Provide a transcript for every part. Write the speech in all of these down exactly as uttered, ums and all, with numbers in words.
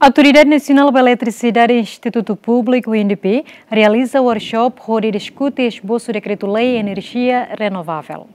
Autoridade Nasionál ba Eletrisidade, Institutu Públiku, I N D P, realiza workshop hodi diskute esbosu dekretu-lei enerjia renovável.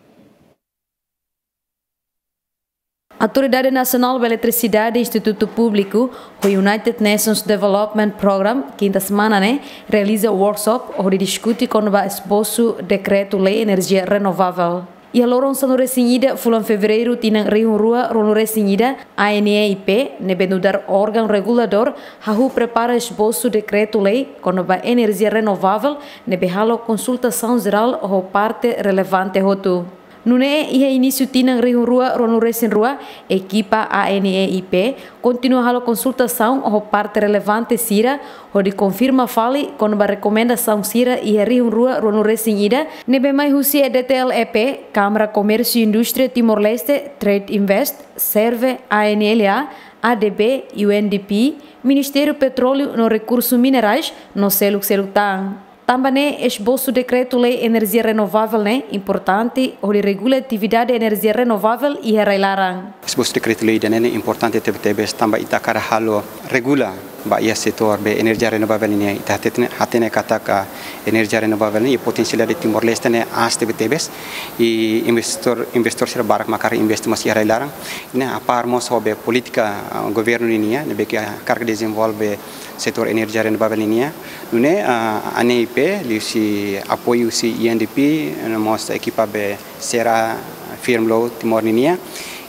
Autoridade Nasionál ba Eletrisidade, Institutu Públiku, ho United Nations Development Programme, kinta semana ne'e, realiza workshop hodi diskute kona-ba esbosu dekretu-lei enerjia renovável. Iha loron sanulu-resin-ida fulan Fevereiru tinan rihun rua ruanulu-resin-ida, A N E I P, ne'ebé nu'udar órgaun reguladór, hahú prepara esbosu dekretu-lei kona-ba enerjia renovável, ne'ebé halo konsultasaun jerál ho parte relevante hotu. Nune'e, iha inísiu tinan rihun rua ruanulu-resin-rua, ekipa A N E I P kontinua halo konsultasaun ho parte relevante sira, hodi konfirma fali kona-ba rekomendasaun sira iha rihun rua ruanulu-resin-ida, ne'ebé mai husi E D T L E P, Kámara Komérsiu Indústria Timor-Leste, Trade Invest, Serve, A N L A, A D B, U N D P, Ministériu Petróleu no Rekursu Minerais, no seluk-seluk tan. Tanba ne'e, esbosu dekretu-lei enerjia renovável ne'e importante hodi regula atividade enerjia renovável iha rai-laran. Esbosu dekretu-lei ida-ne'e importante tebetebes tanba ita hakarak halo regula ba iha setór be enerjia renovável nian. Ita hatene, hatene katak enerjia renovável ne'e potensialidade Timor-Leste ne'e aas tebetebes. I investór, investór sira barak mak hakarak investe mós iha rai-laran. Ne'e a par mós ho be polítika, ah, governu ninian, ne'ebé ke hakarak dezenvolve setór enerjia renovável nian. Nune'e, ah, A N E I P, liuhusi apoiu husi U N D P, no mós ekipa be sira firme lo Timor nian,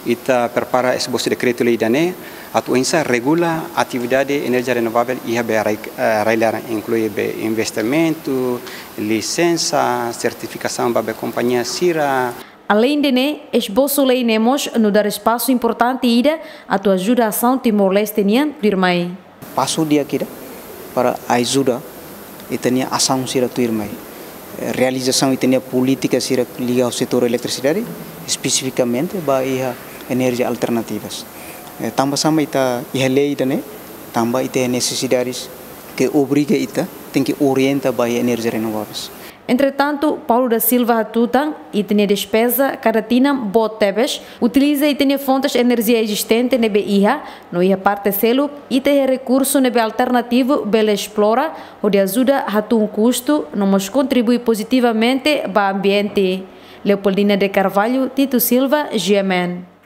ita prepara esbosu dekretu-lei ida-ne'e, atu oinsá regula atividade enerjia renovável iha be rai, eh, rai-laran, inklui be investimentu, lisensa, sertifikasaun ba be kompañia sira. Aleinde ne'e, esbosu lei ne'e mós nu'udar espasu importante ida atu ajuda asaun Timor-Leste nian tuirmai. Pasu di'ak ida para ajuda ita-nia asaun sira tuirmai. Eh, realizasaun ita-nia polítika sira liga ho setór eletrisidade, espesifikamente ba iha enerjia alternativas. Eh, tanba sá mak ita iha lei ida-ne'e, tanba ita iha nesesidades ke obriga ita, tenke orienta ba iha enerjia renováveis. Entretantu, Paulo da Silva hatutan, ita-nia despeza kada tinan boot tebes, utiliza ita-nia fontes enerjia ezistente ne'ebé iha, no iha parte seluk, ita iha rekursu ne'ebé alternativu bele esplora, hodi ajuda hatún kustu, no mós kontribui pozitivamente ba ambiente. Leopoldina de Carvalho, Tito Silva, G M N.